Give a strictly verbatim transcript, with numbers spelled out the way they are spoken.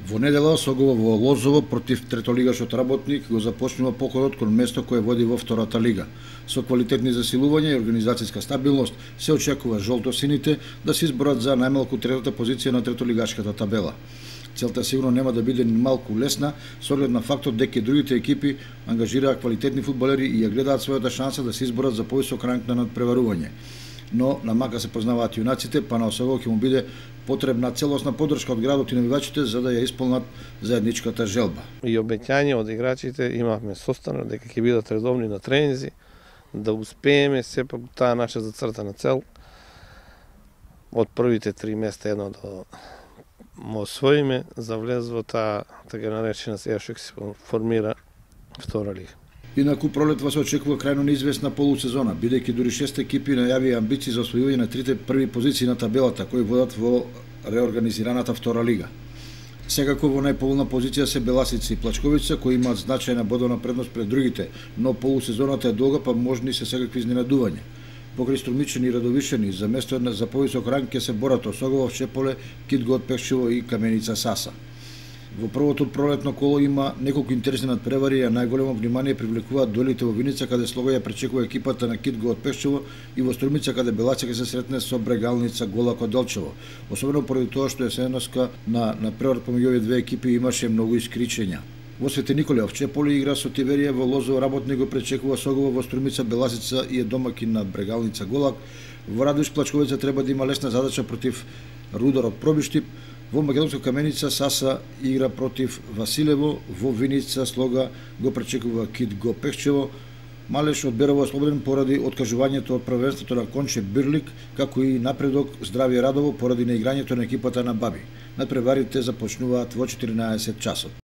Во недела Согово во Лозово против третолигашот Работник го започнува походот кон место кое води во втората лига. Со квалитетни засилувања и организацијска стабилност се очекува жолтосините да се изборат за најмалку третата позиција на третолигашката табела. Целта сигурно нема да биде ни малку лесна, со оглед на фактот дека другите екипи ангажираа квалитетни фудбалери и ја гледаат својата шанса да се изборат за повисок ранг на надпреварување. Но на мака се познаваат јунаците, па на Согово ќе му биде потребна целосна поддршка од градот и навивачите за да ја исполнат заедничката желба. И обеќање од играчите имавме состанок дека ќе бидат редовни на тренинзи, да успееме сепак таа наша зацртана цел од првите три места едно да му освоиме за влез во таа така наречена сега што се формира втора лига. Инаку пролетва се очекува крајно неизвестна полусезона, бидејќи дури шест екипи најавија амбиции за освојување на трите први позиции на табелата, кои водат во реорганизираната втора лига. Секако во најповолна позиција се Беласица и Плачковица, кои имаат значајна бодовна предност пред другите, но полусезоната е долга, па можни се секакви изненадувања. Покрај Струмичани и Радовишани, за место за повисок ранг ќе се борат Осогово, Чеполе, Китго од Пешчево и Каменица Саса. Во првото пролетно коло има неколку интересни надпревари, а најголемо внимание привлекуваат дуелите во Виница, каде Слога ја пречекува екипата на Китго од Пешчево, и во Струмица, каде Белаца ќе се сретне со Брегалница Голак од Делчево. Особено поради тоа што есеноска на надпревар помеѓу овие две екипи имаше многу искричења. Во Свети Николе в Чеполе игра со Тиверија, во Лозово Работник го пречекува Согово, во Струмица Беласица и е домакин на Брегалница Голак. Во Радуш Плачковица треба да има лесна задача против Рудар од Пробиштип. Во Македонска Каменица Саса игра против Василево, во Виница Слога го пречекува Китго Пешчево. Малеш од Берово ослободен поради откажувањето од првенството на Конче Бирлик, како и напредок Здравје Радово поради неиграњето на екипата на Баби. Надпреварите започнуваат во четиринаесет часот.